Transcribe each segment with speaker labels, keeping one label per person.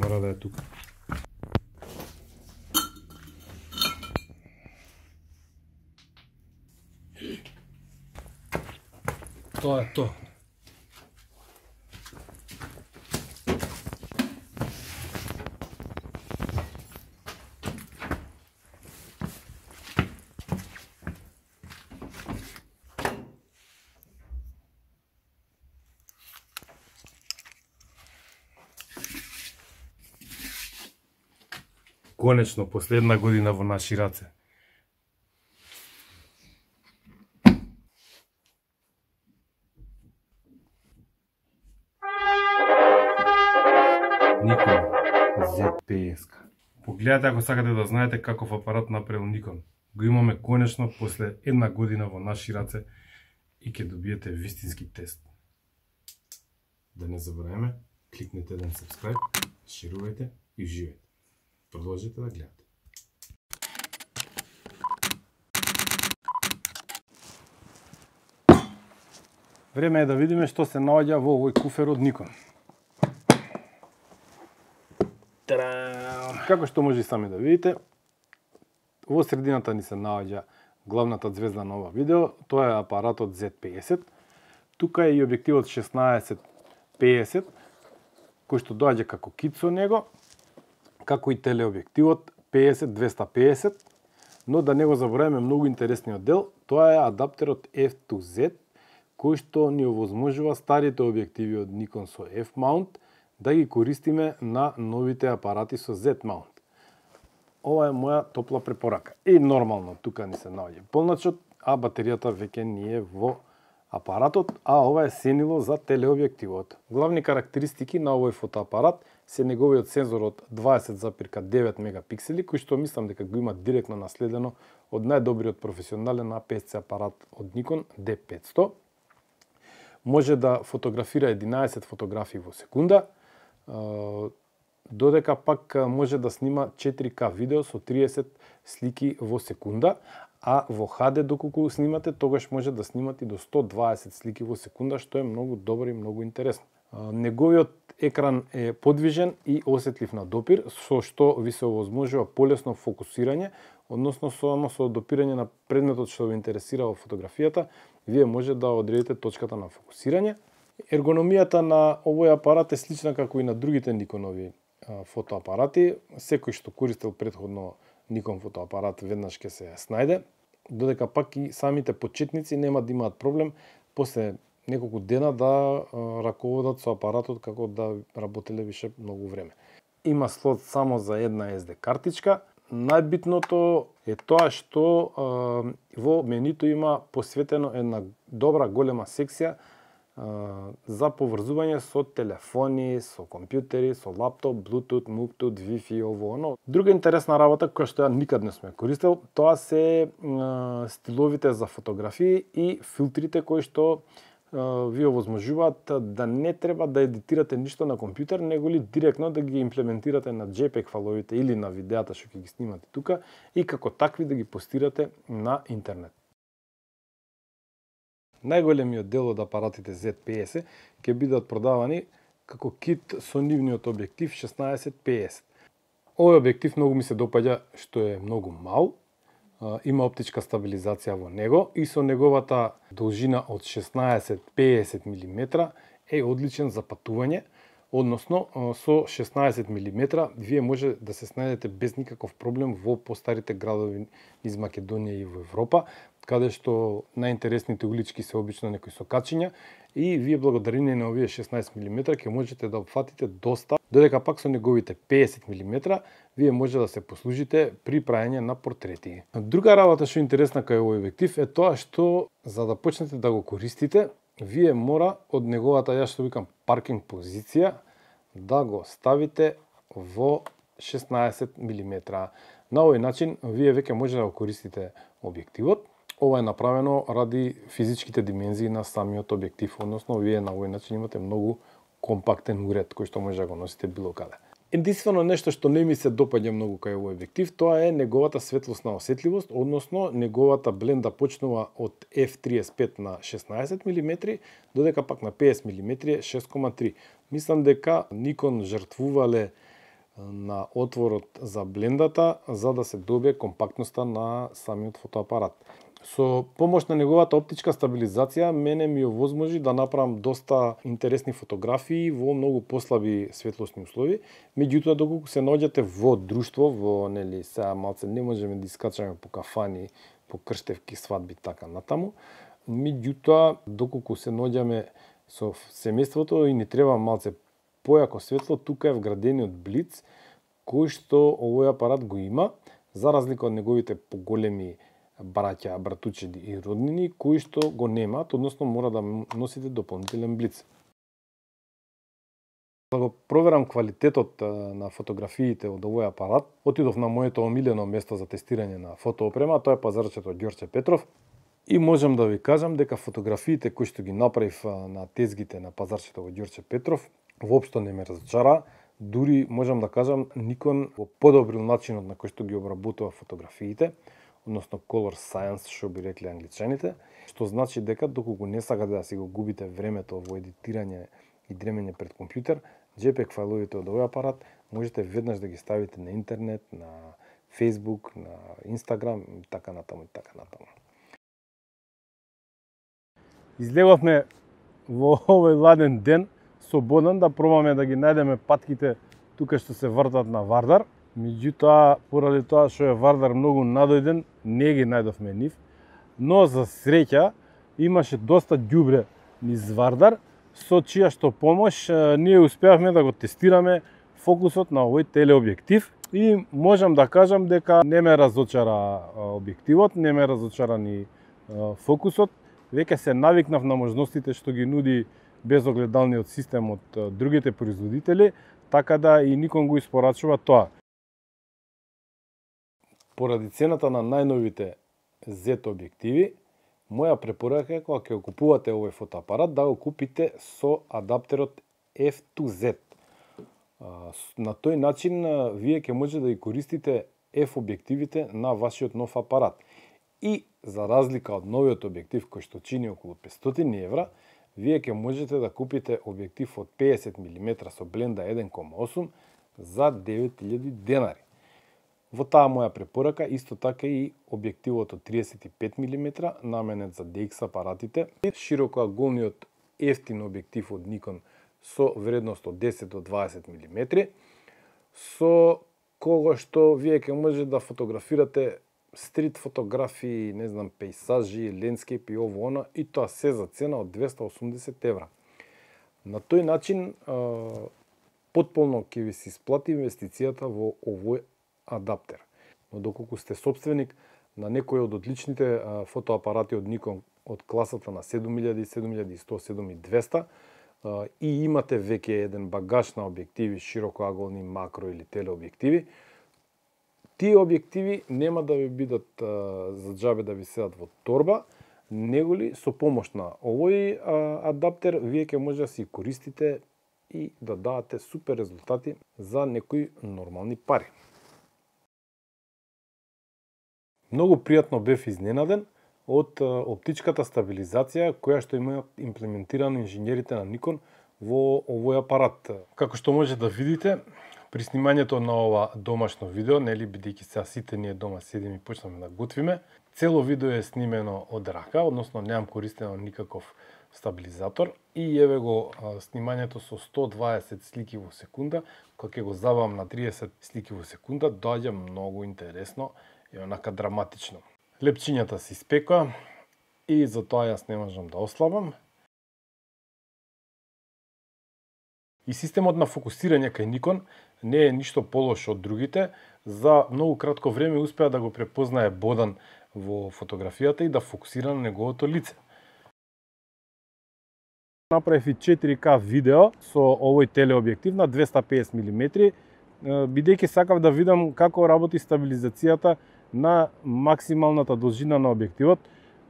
Speaker 1: мора да е тука. Тоа е тоа. Конечно, последна година во наши раце. Nikon Z50. Погледате ако сакате да знаете каков апарат направил Nikon. Го имаме конечно после една година во наши раце и ќе добиете вистински тест. Да не забравяме, кликнете еден subscribe, шерувајте и уживајте. Продолжите да гледате. Време е да видиме што се наоѓа во овој куфер од Nikon. Како што може и сами да видите, во средината ни се наоѓа главната звезда на ова видео, тоа е апаратот Z50. Тука е и објективот 16-50, кој што доаѓа како кит со него, како и телеобјективот 50-250, но да не го забораваме многу интересниот дел, тоа е адаптерот F2Z, кој што ни овозможува старите објективи од Nikon со F-mount да ги користиме на новите апарати со Z-mount. Ова е моја топла препорака. И нормално, тука ни се наоѓа полначот, а батеријата веќе ни е во апаратот, а ова е сенило за телеобјективот. Главни карактеристики на овој фотоапарат се неговиот сензор од 20,9 мегапиксели, кој што мислам дека го има директно наследено од најдобриот професионален APS-C апарат од Nikon D500. Може да фотографира 11 фотографии во секунда, додека пак може да снима 4K видео со 30 слики во секунда, а во HD доколку снимате, тогаш може да снимате до 120 слики во секунда, што е многу добро и многу интересно. Неговиот екран е подвижен и осетлив на допир, со што ви се овозможува полесно фокусирање, односно само со допирање на предметот што ве интересира во фотографијата, вие може да одредите точката на фокусирање. Ергономијата на овој апарат е слична како и на другите Nikonoви фотоапарати. Секој што користел претходно Nikon фотоапарат веднаш ќе се снајде, додека пак и самите почетници нема да имаат проблем после неколку дена да раководат со апаратот како да работеле више многу време. Има слот само за една SD картичка. Најбитното е тоа што во менито има посветено една добра голема секција за поврзување со телефони, со компјутери, со лаптоп, Bluetooth, Bluetooth, Wi-Fi, ово оно. Друга интересна работа која што ја никад не сме користел, тоа се стиловите за фотографии и филтрите кои што ви овозможуваат да не треба да едитирате ништо на компјутер, него ли директно да ги имплементирате на JPEG файловите или на видеата што ќе ги снимате тука и како такви да ги постирате на интернет. Најголемиот дел од апаратите Z50 ќе бидат продавани како кит со нивниот објектив 16-50. Овој објектив многу ми се допаѓа што е многу мал, има оптичка стабилизација во него и со неговата должина од 16-50 мм е одличен за патување, односно со 16 мм вие може да се снајдете без никаков проблем во постарите градови из Македонија и во Европа, каде што најинтересните улички се обично некои сокачиња и вие благодарение на овие 16 мм ќе можете да опфатите доста, додека пак со неговите 50 мм вие може да се послужите при праење на портрети. Друга работа што е интересна кај овој објектив е тоа што за да почнете да го користите, вие мора од неговата, ја што викам, паркинг позиција да го ставите во 16 мм. На овој начин вие веќе може да го користите објективот. Ова е направено ради физичките димензии на самиот објектив, односно вие на овој начин имате многу компактен уред кој што може да го носите било каде. Единствено нешто што не ми се допаѓа многу кај овој објектив, тоа е неговата светлосна осетливост, односно неговата бленда почнува од f35 на 16 мм, додека пак на 50 мм е 6,3. Мислам дека Nikon жртвувале на отворот за блендата за да се добие компактноста на самиот фотоапарат. Со помош на неговата оптичка стабилизација, мене ми овозможи да направам доста интересни фотографии во многу послаби светлосни услови. Меѓутоа, доколку се наоѓате во друштво, во сега малце не можеме да искачаме по кафани, по крштевки, свадби, така натаму. Меѓутоа, доколку се наоѓаме со семејството и ни треба малце појако светло, тука е вградениот блиц, кој што овој апарат го има, за разлика од неговите поголеми браќа, братучеди и роднини, кои што го немаат, односно мора да носите дополнителен блиц. Да го проверам квалитетот на фотографиите од овој апарат, отидов на моето омилено место за тестирање на фотоопрема, тоа е пазарчето Ѓорче Петров, и можам да ви кажам дека фотографиите кои што ги направив на тезгите на пазарчето во Ѓорче Петров воопшто не ме разочара. Дури можам да кажам Nikon го подобрил начинот на кој што ги обработува фотографиите, односно color science, што би рекли англичаните, што значи дека доколку не сакате да си го губите времето во едитирање и дремење пред компјутер, JPEG фајловите од овој апарат можете веднаш да ги ставите на интернет, на Facebook, на Instagram и така натаму и така натаму. Излеговме во овој ладен ден со Бодан да пробаме да ги најдеме патките тука што се вртат на Вардар. Меѓутоа, поради тоа што е Вардар многу надојден, не ги најдовме нив, но за среќа имаше доста ѓубре низ Вардар, со чија што помош ние успеавме да го тестираме фокусот на овој телеобјектив и можам да кажам дека не ме разочара објективот, не ме разочара ни фокусот, веќе се навикнав на можностите што ги нуди безогледалниот систем од другите производители, така да и Nikon го испорачува тоа. Поради цената на најновите Z објективи, моја препорака е кога ќе купувате овој фотоапарат да го купите со адаптерот F2Z. На тој начин вие ќе можете да ги користите F објективите на вашиот нов апарат. И за разлика од новиот објектив кој што чини околу 500 евра, вие ќе можете да купите објектив од 50 мм со бленда 1.8 за 9000 денари. Во таа моја препорака исто така и објективот од 35 мм наменет за DX апаратите, широкоаголниот ефтин објектив од Nikon со вредност од 10 до 20 мм, со кога што вие ќе можете да фотографирате стрит фотографии, не знам, пейсажи, лендскейп и ово она, и тоа се за цена од 280 евра. На тој начин потполно ќе ви се исплати инвестицијата во овој адаптер. Но доколку сте собственик на некој од одличните фотоапарати од Nikon од класата на 7000, 7100, 7200 и имате веќе еден багаж на објективи, широкоаголни, макро или телеобјективи, тие објективи нема да ви бидат за џабе да ви седат во торба, неголи со помош на овој адаптер вие ќе може да си користите и да давате супер резултати за некои нормални пари. Многу пријатно бев изненаден од оптичката стабилизација која што има имплементирано инженерите на Nikon во овој апарат. Како што може да видите, при снимањето на ова домашно видео, нели бидејќи сега сите ние дома седиме и почнеме да готвиме, цело видео е снимено од рака, односно немам користено никаков стабилизатор и еве го снимањето со 120 слики во секунда, кога ќе го забавам на 30 слики во секунда, доаѓа многу интересно и онака драматично. Лепчињата се испекоа и затоа јас не можам да ослабам. И системот на фокусирање кај Nikon не е ништо полош од другите. За многу кратко време успеа да го препознае Бодан во фотографијата и да фокусира на неговото лице. Направив и 4K видео со овој телеобјектив на 250 мм, бидејќи сакав да видам како работи стабилизацијата на максималната должина на објективот,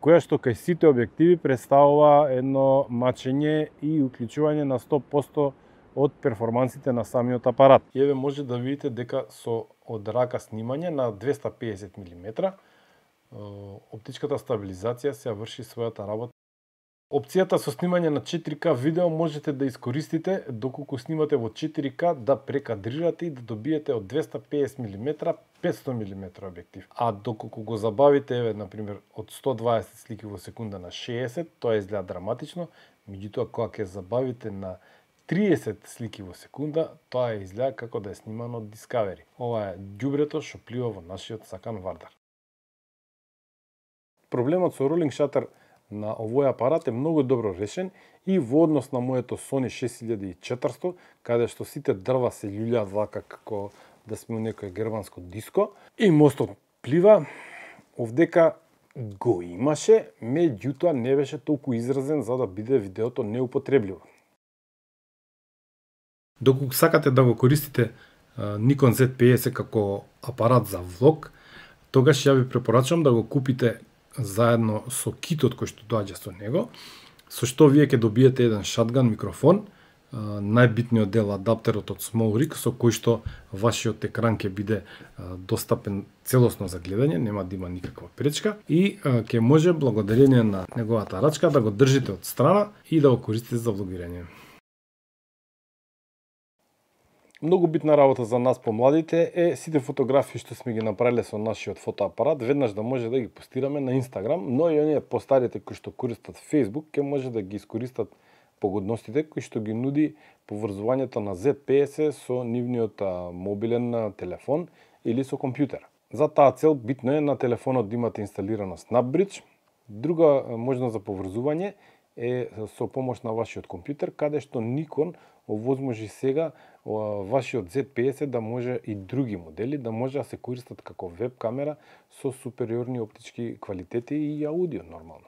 Speaker 1: која што кај сите објективи представува едно мачење и уклучување на 100% од перформансите на самиот апарат. Еве може да видите дека со од рака снимање на 250 мм оптичката стабилизација се врши својата работа Опцијата со снимање на 4К видео можете да искористите доколку снимате во 4К да прекадрирате и да добиете од 250 мм 500 мм објектив. А доколку го забавите, например, од 120 слики во секунда на 60, тоа изгледа драматично, меѓутоа кога ќе забавите на 30 слики во секунда, тоа изгледа како да е снимано од Discovery. Ова е ѓубрето што плива во нашиот сакан Вардар. Проблемот со Rolling Shutter на овој апарат е многу добро решен и во однос на моето Sony 6400, каде што сите дрва се љулјаат вака како да сме у некој германско диско и мостот плива, овдека го имаше, меѓутоа не беше толку изразен за да биде видеото неупотребливо. Доколку сакате да го користите Nikon Z50 како апарат за влог, тогаш ја ви препорачувам да го купите заедно со китот кој што доаѓа со него, со што вие ќе добиете еден шатган микрофон, најбитниот дел адаптерот од SmallRig, со кој што вашиот екран ќе биде достапен целосно за гледање, нема да има никаква пречка и ќе може благодарение на неговата рачка да го држите од страна и да го користите за влогирање. Многу битна работа за нас помладите е сите фотографии што сме ги направиле со нашиот фотоапарат веднаш да може да ги постираме на Инстаграм, но и оние постарите кои што користат Facebook ќе може да ги искористат погодностите кои што ги нуди поврзувањето на Z50 со нивниот мобилен телефон или со компјутер. За таа цел битно е на телефонот да имате инсталирано SnapBridge. Друга можност за поврзување е со помош на вашиот компјутер, каде што Nikon овозможи сега вашиот Z50 да може и други модели да може да се користат како веб камера со супериорни оптички квалитети и аудио нормално.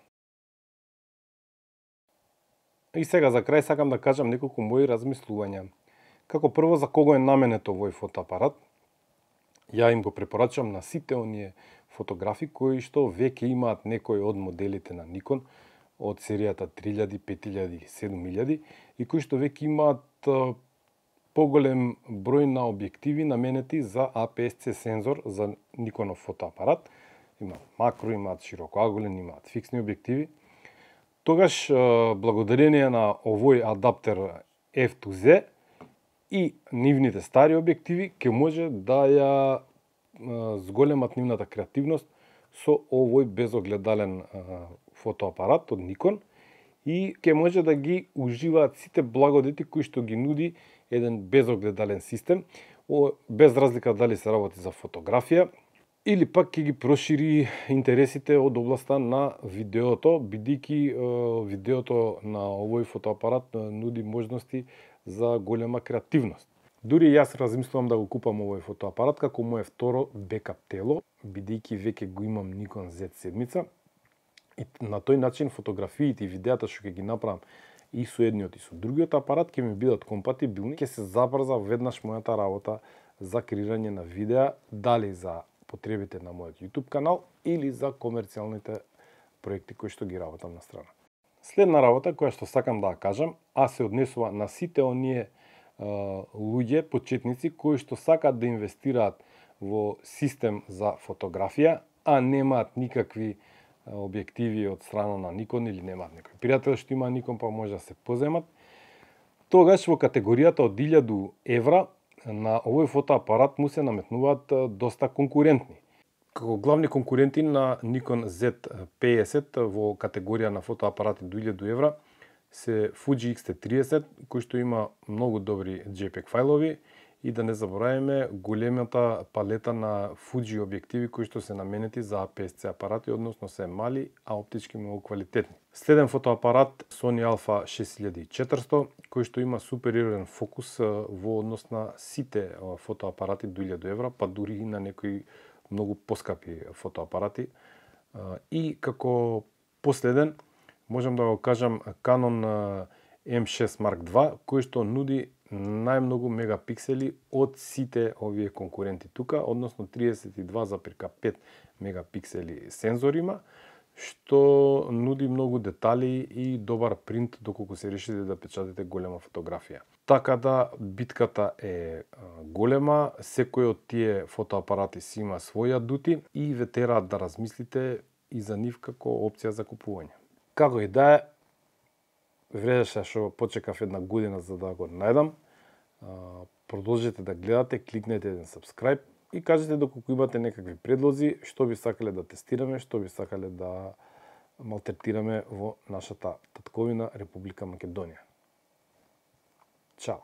Speaker 1: И сега за крај сакам да кажам неколку мои размислувања. Како прво, за кого е наменет овој фотоапарат? Ја им го препорачувам на сите оние фотографи кои што веќе имаат некој од моделите на Nikon од серијата 3000, 5000 и 7000 и кои што веќе имаат поголем број на објективи наменети за APS-C сензор за Никонов фотоапарат. Имаат макро, имаат широкоаголен, имаат фиксни објективи. Тогаш, благодарение на овој адаптер F2Z и нивните стари објективи, ќе може да ја зголемат нивната креативност со овој безогледален фотоапарат од Nikon и ќе може да ги уживаат сите благодети кои што ги нуди еден безогледален систем, без разлика дали се работи за фотографија или пак ќе ги прошири интересите од областа на видеото, бидејќи видеото на овој фотоапарат нуди можности за голема креативност. Дури јас размислувам да го купам овој фотоапарат како мое второ бекап тело, бидејќи веќе го имам Nikon Z7 и на тој начин фотографиите и видеата што ќе ги направам и со едниот и со другиот апарат ќе ми бидат компатибилни, ќе се забрза веднаш мојата работа за креирање на видеа, дали за потребите на мојот YouTube канал или за комерцијалните проекти кои што ги работам на страна. Следна работа која што сакам да ја кажам, а се однесува на сите оние луѓе, почетници кои што сакаат да инвестираат во систем за фотографија, а немаат никакви објективи од страна на Nikon или немаат некој пријател што има Nikon па може да се поземат, тогаш во категоријата од 1000 евра на овој фотоапарат му се наметнуваат доста конкурентни. Како главни конкуренти на Nikon Z50 во категорија на фотоапарати до 1000 евра се Fuji X-T30, кој што има многу добри JPEG фајлови и да не забораваме големата палета на Fuji објективи кои што се наменети за APS-C апарати, односно се мали, а оптички многу квалитетни. Следен фотоапарат Sony Alpha 6400, кој што има супериорен фокус во однос на сите фотоапарати до 1000 евра, па дури и на некои многу поскапи фотоапарати. И како последен, можам да го кажам Canon M6 Mark II, кој што нуди најмногу мегапиксели од сите овие конкуренти тука, односно 32,5 мегапиксели сензор има, што нуди многу детали и добар принт доколку се решите да печатите голема фотографија. Така да битката е голема, секој од тие фотоапарати си има своји адути и ве тераат да размислите и за нив како опција за купување. Како и да е, вредеше што почекав една година за да го најдам. Продолжете да гледате, кликнете еден subscribe и кажете доколку имате некакви предлози, што би сакале да тестираме, што би сакале да малтретираме во нашата татковина Република Македонија. Чао!